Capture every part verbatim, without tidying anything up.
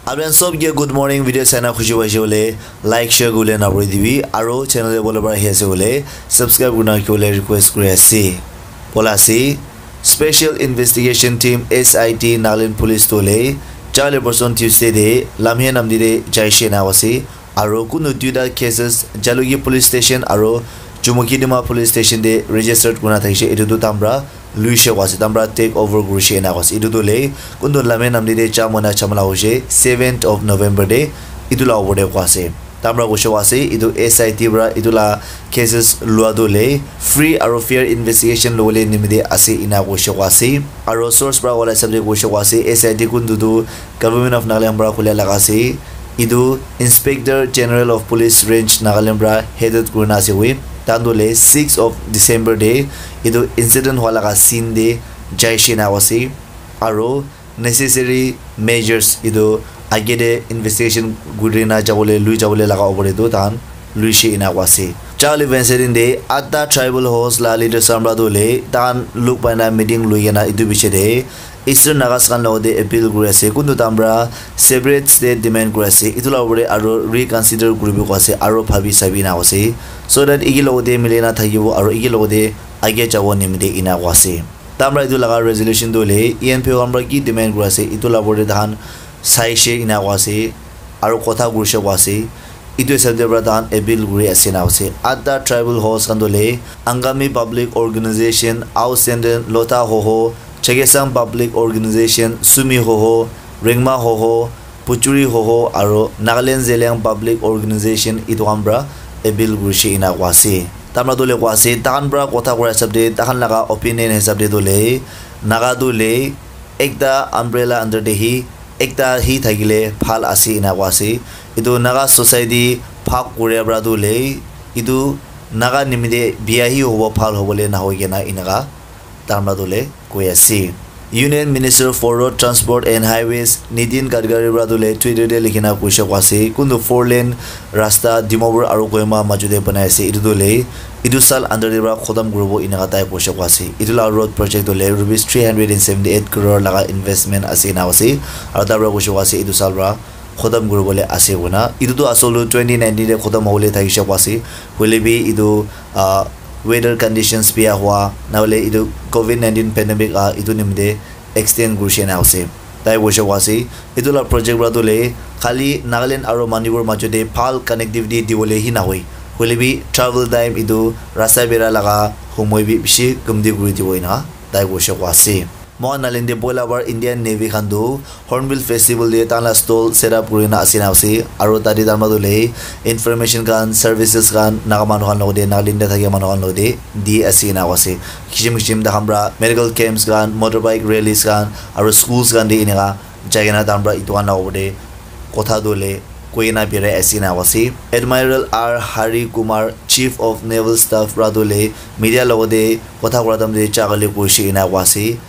Apni khan sob ke good morning. Video saina khushi paise hoile like, share kuribole napahori dibi, aro channel te bole para ahi ase hoile subscribe kurina rakhibole request kuri ase. Bola ase, Special Investigation Team, S I T, Nagaland Police tu hoile jale person Tuesday te Lamhe Namdi te jaise ena ase. Aro kunu duita cases Jalukie Police Station aro Chumukedima Police Station te registered kurina thakishe, etu tu tahan para luishe koa ase, tahan para take over kurishe ena koa ase. Etu tu hoile kuntu Lamhe Namdi te jam hoina jhamala hoishe seventh of November te, etu la opor te koa ase. Tahan para koishe koa ase, etu S I T para etu la cases lua tu hoile free aro fair investigation lobole nimite ase ena koishe koa ase. Aro source para wala hisab te koishe koa ase, S I T kuntu tu Government of Nagaland para khula laga ase. Etu Inspector General of Police Range Nagaland para headed kurina ase koi. Tahan tu hoile six of December te etu incident hua laga scene te jaishe na ase. Aro necessary measures etu age te investigation kurina jabole, lui jabole laga opor te tu tahan luishe ena koa ase. Jale incident te atta tribal host la leaders khan para tu hoile tahan luk paina meeting lui kena etu piche te Eastern Nagas khan logote appeal kuri ase, kuntu tahan para separate state demand kuri ase, etu la opor te aro reconsider kuribo koa ase, aro bhabi sabi na koa ase, so that eki logote mili na thakibo aro eki logote age jabo nimite ena koa ase. Tahan para etu laga resolution tu hoile E N P O khan para ki demand kuri ase, etu la opor te tahan saishe ena koa ase, aro kotha kurishe koa ase. Etu hisab te para tahan appeal kuri ase na ase. Atta tribal host khan tu hoile Angami Public Organization, Ao Senden, Lotha Hoho, Chakhesang Public Organization, Sumi Hoho, Rengma Hoho, Puchuri Hoho, aro Nagaland Zeliang Public Organization, etu khan para appeal kurishe ena koa ase. Tahan para tu hoile koa ase, tahan para kotha kura hisab te, tahan laga opinion hisab te tu hoile, Naga tu hoile ekta umbrella under te hi ekta hi thakile bhal ase ena koa ase. Etu Naga society bhag kuria para tu hoile etu Naga nimite bia hi hobo, bhal hobole nahoi kena eneka tahan para tu hoile koi ase. Union Minister for Road Transport and Highways Nitin Gadkari para tu hoile Twitter te likhina koishe koa ase, kuntu four lane rasta Dimapur aro Kohima majo te banai ase, etu tu hoile etu saal under te para khotom kuribo eneka tai koishe koa ase. Etu la road project tu hoile rupees three hundred and seventy eight crore laga investment ase ena ase. Aro tai para koishe koa ase etu saal para khotom kuribole ase koina. Etu tu asol tu twenty nineteen te khotom hobole thakishe koa ase. Hoile bi etu, ah, weather conditions bia hua, nahole etu covid nineteen pandemic ah, etu nimite extend kurishe na ase. Tai koishe koa ase, etu la project para tu hoile khali Nagaland aro Manipur majo te bhal connectivity dibole hi nahoi, hoile bi travel time etu rasta bera laga homoi bi bishi kamti kuri dibo ena tai koishe koa ase. Moikhan Nagaland te poila para Indian Navy khan tu Hornbill Festival te tahan la stall set up kurina ase na ase, aro tate tahan para tu hoile information khan, services khan Naga manu khan logote, Nagaland te thakia manu khan logote di ase ena koa ase. Kisim kisim tahan para medical camps khan, motorbike rallies khan, aro schools khan te eneka jai kena tahan para etu khan la opor te kotha tu hoile koi kena birai ase ena koa ase. Admiral R Hari Kumar, Chief of Naval Staff para tu hoile media logote kotha kura time te jagale koishe ena koa ase.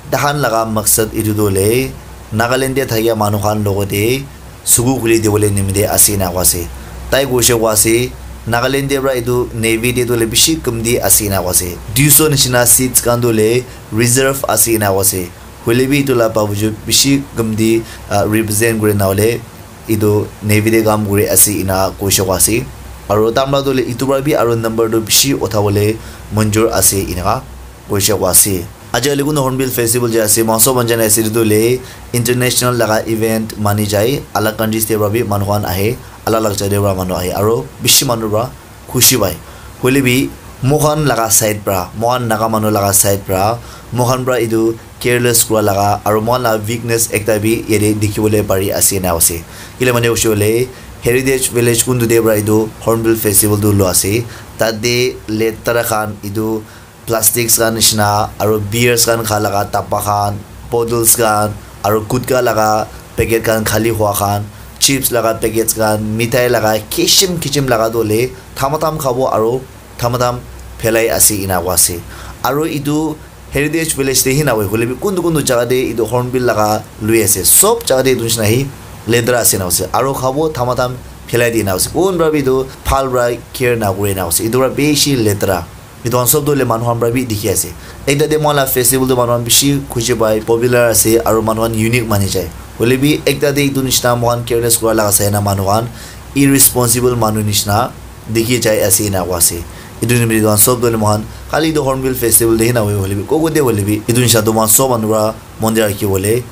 Tahan laga maksad etu tu hoile Nagaland te thakia manu khan logote suku khuli dibole nimite ase ena koa ase. Tai koishe koa ase, Nagaland te para etu Navy te tu hoile bishi kamti ase ena koa ase. Duiso nishina seats khan tu hoile reserve ase ena koa ase. Hoile bi etu la bawajud bishi kamti, ah, represent kuri na hoile etu Navy te kam kuri ase ena koishe koa ase. Aro tahan para tu hoile etu para bi aro number tu bishi uthabole manjur ase eneka koishe koa ase. Aji kali kunu Hornbill Festival je ase, moikhan sob khan jana ase, etu tu hoile international laga event mani jai, alag countries te para bi manu khan ahe, alag alag jaka te para manu ahe, aro bishi manu para khushi pai. Hoile bi moikhan laga side para, moikhan Naga manu laga side para, moikhan para etu careless kura laga aro moikhan laga weakness ekta bi yate dikhi bole pari ase ena ase. Kile mane hoishe hoile Heritage Village kuntu te para etu Hornbill Festival tu lua ase. Tate letera khan etu plastics khan nishina aro beers khan kha laga dabba khan, bottles khan, aro gutka laga packet khan khali hua khan, chips laga packets khan, mithai laga kisim kisim laga tu hoile thamatham khabo aro thamatham phelai ase ena koa ase. Aro etu Heritage Village te hi nahoi, hoile bi kuntu kuntu jaga te etu Hornbill laga lui ase, sob jaga te etu nishina hi letera ase ena ase. Aro khabo thamatham phelai di ena ase. Kun para bi etu bhal para care nakure ena ase. Etu para bishi letera. Etu khan sob tu hoile manu khan para bi dikhi ase. Ekta te moikhan la festival tu manu khan bishi khushi pai, popular ase, aro manu khan unique mani jai. Hoile bi ekta te etu nishina moikhan careless kura laga sai na manu khan irresponsible manu nishina dikhi jai ase ena koa ase. Etu nimite etu khan sob tu hoile moikhan khali etu Hornbill Festival te hi nahoi hoile bi koko te hoile bi etu nishina tu moikhan sob manu para mon te rakhi bole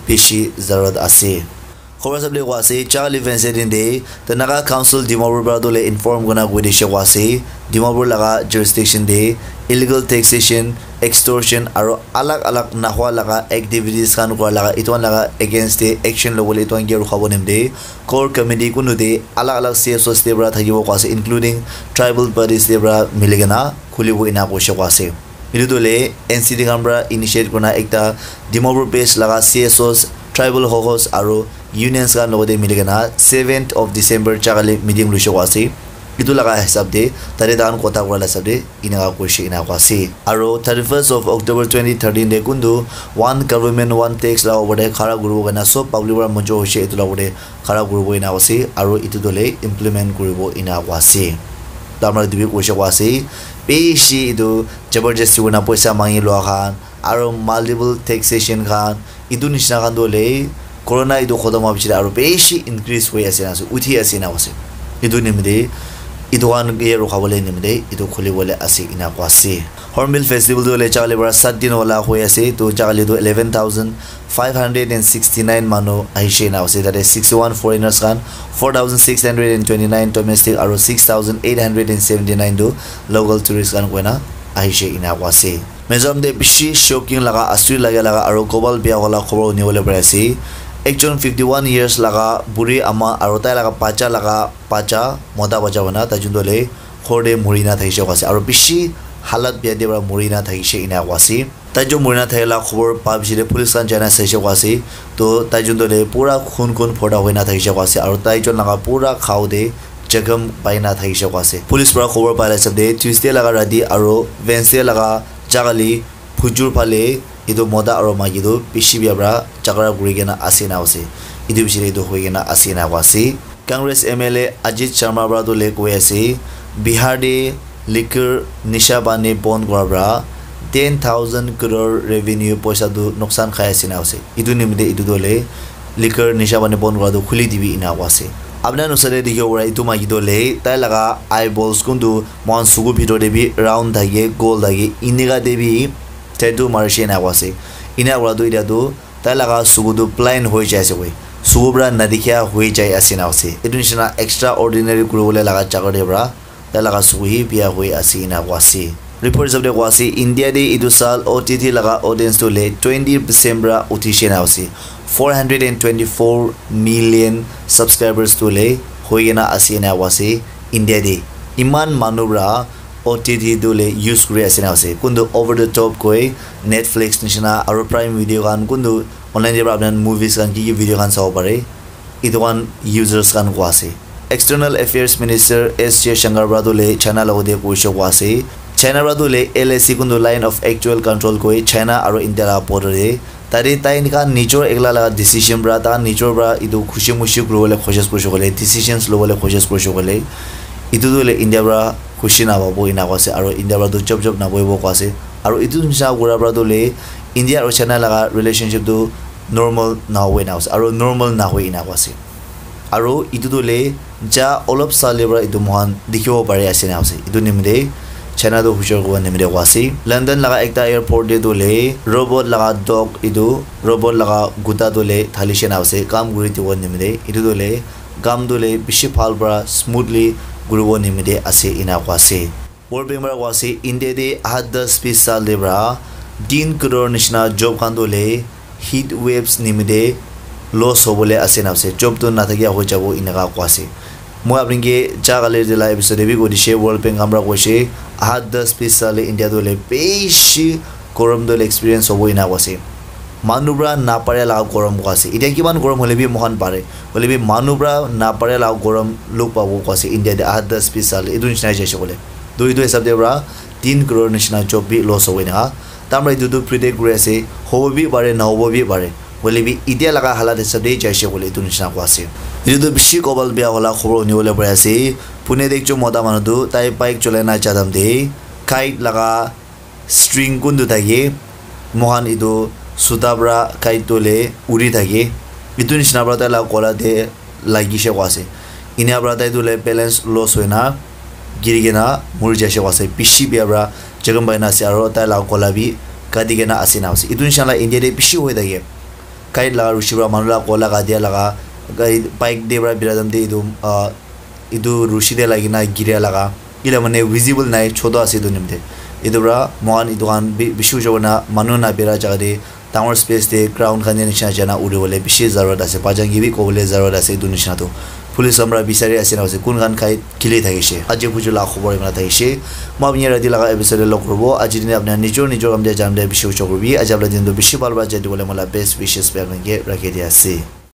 bishi zarurat ase. Khobor sab le koa ase, Chakali Wednesday din te the Naga Council Dimapur para tu le inform kurina koi dishe koa ase, Dimapur laga jurisdiction te illegal taxation, extortion aro alag alag nahua laga activities khan kura laga etu khan laga against te action lobole etu khan ke rukha bo nimite core committee kunu te alag alag C S Os te para thakibo koa ase, including tribal bodies te para mili kena khulibo ena koishe koa ase. Etu tu le N C T khan para initiate kurina ekta Dimapur based laga C S Os, tribal hokos aro unions khan logote mili kena seventh of December Chakali meeting loishe koa ase. Etu laga hisab te tate tahan kotha kura la hisab te enaka koishe enaka ase. Aro thirty-first of October twenty thirteen te kuntu one government one tax laga opor te khara kuribo karna sob public para monjo hoishe etu laga opor te khara kuribo enaka ase aro etu tu le implement kuribo enaka ase. Tamar etu bi koishe koa ase bishi etu jabardasti kurina poisa mangi lua khan aro multiple taxation khan etu nishina khan tu hoile corona etu khotom howa pichete aro bishi increase hoi ase na ase, uthi ase na ase. Etu nimite etu khan ke rukha bole nimite etu khuli bole ase ena koa ase. Hornbill Festival tu hoile Chakali para sat din wala hoi ase, tu Chakali tu eleven thousand five hundred and sixty nine manu ahishe na ase, tate sixty one foreigners khan, four thousand six hundred and twenty nine domestic aro six thousand eight hundred and seventy nine tu local tourist khan koina ahishe ena koa ase. Mizoram te bishi shocking laga, asuri lage laga aro kobal bia wala khobor huni bole pari ase. Ekjon fifty one years laga buri ama aro tai laga bacha laga bacha, mota bacha hoina tai jun tu hoile ghor te muri na thakishe koa ase aro bishi halat bia te para muri na thakishe ena koa ase. Tai jun muri na thakila khobor pa pichete police khan jai na saishe koa ase. To tai jun tu hoile pura khun khun phorta hoi na thakishe koa ase aro tai jun laga pura khao te jakham pai na thakishe koa ase. Police para khobor pa la hisab te Tuesday laga rati aro Wednesday laga Chakali Phujur phale etu mota aro maiki tu bishi bia para jhagara kuri kena ase na ase. Etu pichete etu hoi kena ase na koa ase. Congress M L A Ajit Sharma para tu le koi ase, Bihar te liquor nisha pani bon kura para ten thousand crore revenue poisa tu nuksan khai ase na ase. Etu nimite etu tu le liquor nisha pani bon kura tu khuli dibi ena koa ase. Apna nusare dikhibo para etu maiki tu le tai laga eyeballs kuntu moikhan suku bhitor te bi round thake, goal thake, enika te bi tattoo marishe ena koa ase. Ena kura tu etia tu tai laga suku tu blind hoi jai ase koi. Suku para nadikhia hoi jai ase na ase. Etu nishina extraordinary kuribole laga jaga te para tai laga suku hi bia hoi ase ena koa ase. Report hisab te koa ase, India te etu saal O T T laga audience tu le twenty percent para uthishe na ase. Four hundred and twenty four million subscribers tu le hoi kena ase ena koa ase India te. Iman manu para O T T tu le use kuri ase na ase. Kuntu over the top koi Netflix nishina aro Prime Video khan kuntu online te para apni khan movies khan ki ki video khan sabo pare. Etu khan users khan koa ase. External Affairs Minister S Jaishankar para tu le China logote koishe koa ase. China para tu le L A C kuntu Line of Actual Control koi China aro India laga border te. Tate tai khan nijor ekla laga decision para, tai khan nijor para etu khushi mushi kuribole koshish kurishe koile, decisions lobole koshish kurishe koile, etu tu hoile India para khushi napabo ena koa ase, aro India para tu chop chop nabohibo koa ase, aro etu nishina kura para tu hoile India aro China laga relationship tu normal nahobo ena koa ase, aro normal nahoi ena koa ase. Aro etu tu hoile ja olop sale para etu moikhan dikhibo pari ase na ase. Etu nimite China tu hushar kuribo nimite koa ase. London laga ekta airport te tu hoile robot laga dog etu robot laga kuta tu hoile thalishe na ase. Kam kuri dibo nimite. Etu tu hoile kam tu hoile bishi bhal para smoothly kuribo nimite ase ena koa ase. World Bank para koa ase, India te aha das bis saal te para tin crore nishina job khan tu hoile heat waves nimite loss hobole ase na ase, job tu nathakia hoi jabo eneka koa ase. Moi apni ke ja kali de la episode te bi koi dishe, World Bank khan para koishe, aha das bis saal te India tu hoile bishi gorom tu hoile experience hobo eneka koa ase. Manu para napare laga gorom koa ase. Etia kiman gorom hoile bi moikhan pare. Hoile bi manu para napare laga gorom log pabo koa ase India te aha das bis saal te. Etu nishina jaise koile. To etu hisab te para tin crore nishina job bi loss hobo eneka. Tamra etu tu predict kuri ase, hobo bi pare, nahobo bi pare. Hoile bi etia laga halat hisab te jaise koile etu nishina koa ase. Etu tu bishi kobal bia wala khobor huni bole pari ase. Pune te ekjon mota manu tu tai bike cholai na ja time te kite laga string kuntu thake, moikhan etu suta para kite tu hoile uri thake. Etu nishina para tai la gola te lagi she koa ase. Enia para tai tu le balance loss hoina giri kena muri jai she koa ase. Bishi bia para jakham pai na ase aro tai la gola bi kati kena ase na ase. Etu nishina la India te bishi hoi thake. Kite la rushi para manu la gola katia laga, bike te para bira time te etu, ah, etu rushi te lagi na giria laga. Ila mane visible nai, chotu ase etu nimite. Etu para moikhan etu khan bi-, bishi ujabo na manu na bira jaga te dangor space te ground khan te nishina jana uri bole bishi zarurat ase. Bajan ke bi kobole zarurat ase etu nishina tu. Police khan para bisari ase na ase kun khan kite gili thakishe. Aji buju la khobor imana thakishe. Moi apni rati laga episode te log koribo. Aji dine apni nijor nijor kam te jam te bishi ujo koribi. Aji apni din tu bishi bhal para jai dibole mola best wishes pe apni ke rakhi dia ase.